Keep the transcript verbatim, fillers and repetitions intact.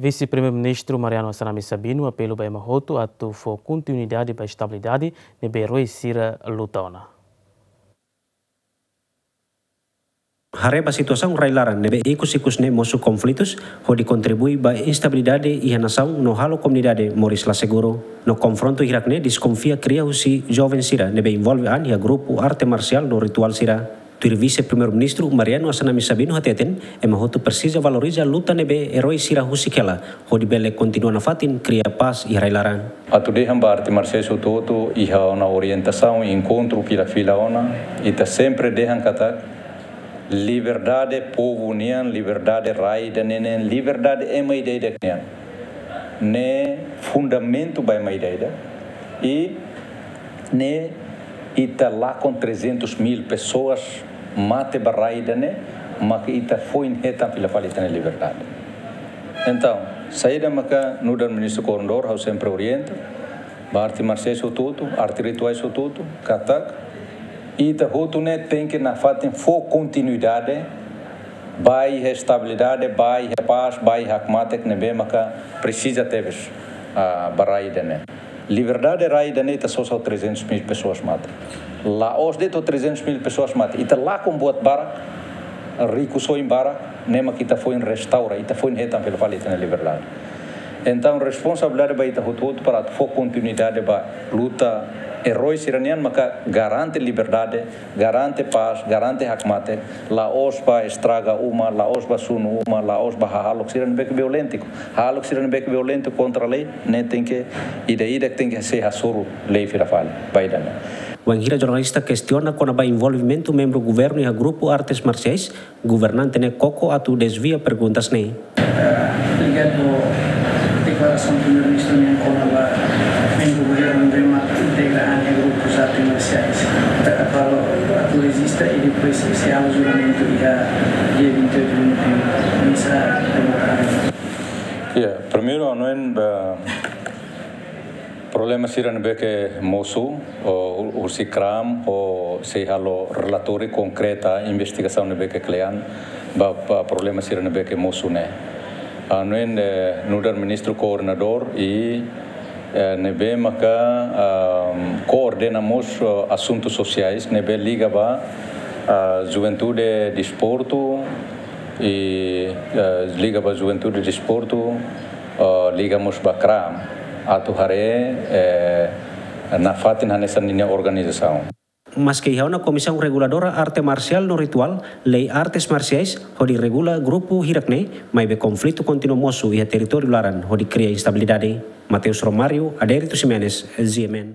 Vise-Primeiru-Ministru Mariano Assanami Sabino apelu ba ema hotu atu fó kontinuidade ba estabilidade ne'ebé eroi sira luta ona. Haree ba situasaun rai-laran ne'ebé ikus-ikus ne'e mosu konflitus, hodi kontribui ba instabilidade iha nasaun no halo komunidade moris la seguru. No konfrontu hirak ne'e deskonfia kria husi joven sira ne'ebé envolve an iha grupu arte marsiál no rituál sira. Tuir Vise-Primeiru-Ministru Mariano Assanami Sabino hateten, ema hotu presiza valoriza luta ne'ebé eroi sira husik hela, hodi bele kontinua nafatin kria pás iha rai-laran. Atu dehan ba arte marsiais hotu-hotu, iha ona orientasaun enkontru fila-fila ona, ita sempre dehan katak liberdade povu nian, liberdade rai ida-ne'e nian, liberdade ema ida-idak nian. Ne'e fundamentu ba ema ida-idak. I ne'e ita lakon trezentos mil pessoas mate ba rai ida-ne'e, maka ita foin hetan fila fali ita-nia liberdade. Entaun, saida maka nu'udar Ministru Koordenadór, ha'u sempre orienta ba arte marsiais hotu-hotu, arte rituais hotu-hotu, katak ita hotu ne'e tenke nafatin fó kontinuidade ba iha estabilidade, ba iha pás, ba iha hakmatek ne'ebé maka presiza tebes, ah, ba rai ida-ne'e. Liberdade rai ida-ne'e ita sosa ho trezentos mil pessoas mate. La'ós de'it ho trezentos mil pessoas mate. Ita lakon buat barak, rikusoin barak, ne'e mak ita foin restaura, ita foin hetan fila fali ita-nia liberdade. Entaun, responsabilidade ba ita hotu-hotu para atu fó kontinuidade ba luta eroi sira-nian maka garante liberdade, garante pás, garante hakmatek, la'ós ba estraga uma, la'ós ba sunu uma, la'ós ba hahalok sira ne'ebé ke violéntiku. Hahalok sira ne'ebé ke violéntiku kontra lei, ne'e tenke ida-idak tenke sei hasoru lei fila fali ba ida-ne'e. Wainhira jornalista kestiona kona-ba envolvimentu membru governu iha grupu artes marsiais, governante ne'e koko atu dezvia perguntas ne'e. Eh, ligadu ho deklarasaun Primeiru-Ministru nian kona-ba membru governu ne'ebé mak integra an iha grupus arte marsiais. Taka falo atu rejista i depois sei halo julgamentu iha dia vinte e oito de novembro. Misa. Ya, primeiru, ha'u hanoin, eh, problema sira ne'ebé ke mosu, o, husi kram, o sei halo relatóriu konkreta, investigasaun ne'ebé ke kle'an ba, ba problema sira ne'ebé ke mosu ne'e. Ha'u hanoin, eh, nu'udar Ministru Koordenadór i, eh, ne'ebé maka, ah, koordena mós, eh, asuntus sosiais ne'ebé liga ba, ah, juventude, desportu, i, eh, liga ba juventude, desportu, eh, liga mós ba kram, atu haree, eh, nafatin hanesan ninia organizasaun. Maske iha ona Komisaun Reguladora Arte Marsiál no Rituál, lei artes marsiais hodi regula grupu hirak ne'e, maibé konflitu kontinua mosu iha territóriu laran hodi kria instabilidade. Mateus Romário, Adérito Ximenes, G M N.